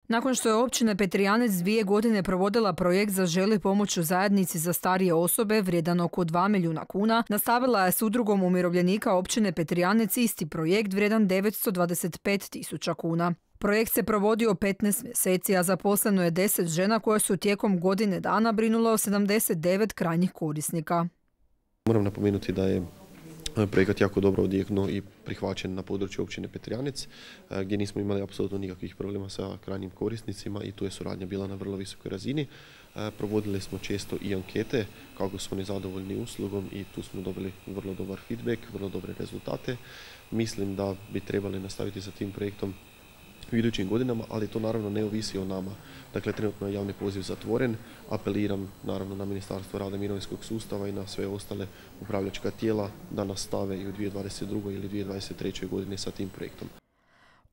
Nakon što je općina Petrijanec 2 godine provodila projekt Zaželi pomoć u zajednici za starije osobe vrijedan oko 2 milijuna kuna, nastavila je s udrugom umirovljenika općine Petrijanec isti projekt vrijedan 925.000 kuna. Projekt se provodio 15 mjeseci, a zaposleno je 10 žena koje su tijekom godine dana brinule o 79 krajnjih korisnika. Moram napomenuti da je projekat jako dobro odjeknuo i prihvaćen na području općine Petrijanec, gdje nismo imali apsolutno nikakvih problema sa krajnjim korisnicima i tu je suradnja bila na vrlo visokoj razini. Provodili smo često i ankete kako su oni zadovoljni uslugom i tu smo dobili vrlo dobar feedback, vrlo dobre rezultate. Mislim da bi trebali nastaviti sa tim projektom u idućim godinama, ali to naravno ne ovisi o nama. Dakle, trenutno je javni poziv zatvoren. Apeliram naravno na Ministarstvo rada i mirovinskog sustava i na sve ostale upravljačka tijela da nastave i u 2022. ili 2023. godini sa tim projektom.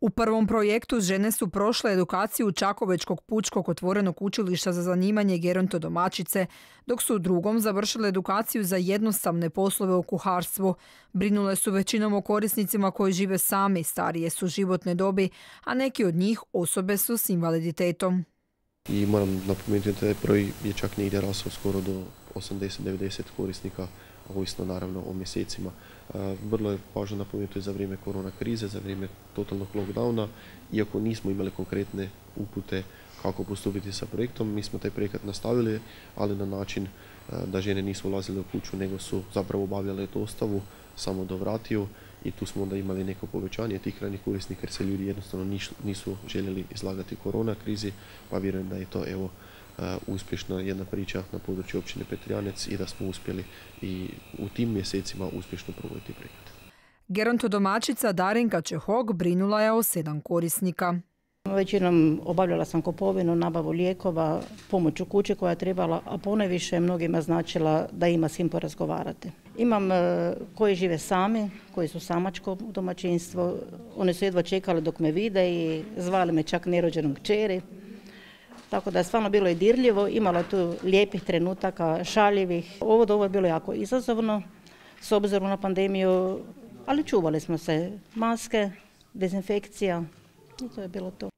U prvom projektu žene su prošle edukaciju Čakovečkog pučkog otvorenog učilišta za zanimanje gerontodomaćice, dok su u drugom završile edukaciju za jednostavne poslove u kuharstvu. Brinule su većinom o korisnicima koji žive sami, starije su životne dobi, a neki od njih osobe su s invaliditetom. I moram napomenuti da taj broj je čak negdje rasao skoro do 80-90 korisnika, ovisno naravno o mjesecima. Vrlo je važno napomenuti za vrijeme korona krize, za vrijeme totalnog lockdowna, iako nismo imali konkretne upute kako postupiti sa projektom, mi smo taj projekat nastavili, ali na način da žene nisu ulazile u kuću, nego su zapravo obavljale dostavu samo do vratiju i tu smo onda imali neko povećanje tih krajnjih korisnika jer se ljudi jednostavno nisu željeli izlagati korona krizi, pa vjerujem da je to uspješna jedna priča na području općine Petrijanec i da smo uspjeli i u tim mjesecima uspješno provoditi projekt. Gerontodomaćica Darinka Čehok brinula je o 7 korisnika. Većinom obavljala sam kupovinu, nabavu lijekova, pomoć u kući koja je trebala, a ponajviše mnogima značila da ima s kim porazgovarati. Imam koji žive sami, koji su samačko domaćinstvo. Oni su jedva čekali dok me vide i zvali me čak nerođenom kćeri. Tako da je stvarno bilo i dirljivo, imalo tu lijepih trenutaka, šaljivih. Ovo je bilo jako izazovno s obzirom na pandemiju, ali čuvali smo se, maske, dezinfekcija i to je bilo to.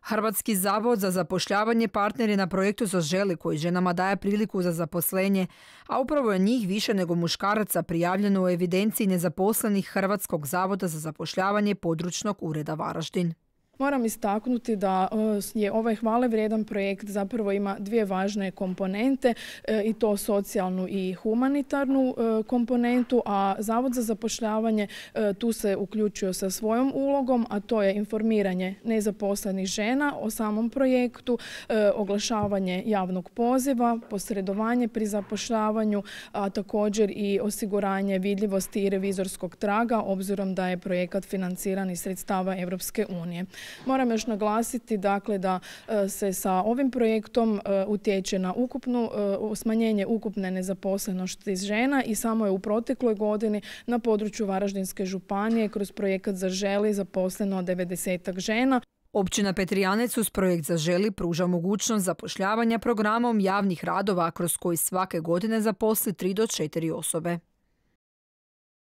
Hrvatski zavod za zapošljavanje partner je na projektu Zaželi koji ženama daje priliku za zaposlenje, a upravo je njih više nego muškaraca prijavljeno u evidenciji nezaposlenih Hrvatskog zavoda za zapošljavanje područnog ureda Varaždin. Moram istaknuti da je ovaj hvale vrijedan projekt zapravo ima 2 važne komponente i to socijalnu i humanitarnu komponentu, a Zavod za zapošljavanje tu se uključio sa svojom ulogom, a to je informiranje nezaposlenih žena o samom projektu, oglašavanje javnog poziva, posredovanje pri zapošljavanju, a također i osiguranje vidljivosti i revizorskog traga obzirom da je projekat financiran iz sredstava Europske unije. Moram još naglasiti dakle, da se sa ovim projektom utječe na smanjenje ukupne nezaposlenosti žena i samo je u protekloj godini na području Varaždinske županije kroz projekat Zaželi zaposleno 90 žena. Općina Petrijanec uz projekt Zaželi pruža mogućnost zapošljavanja programom javnih radova kroz koji svake godine zaposli 3 do 4 osobe.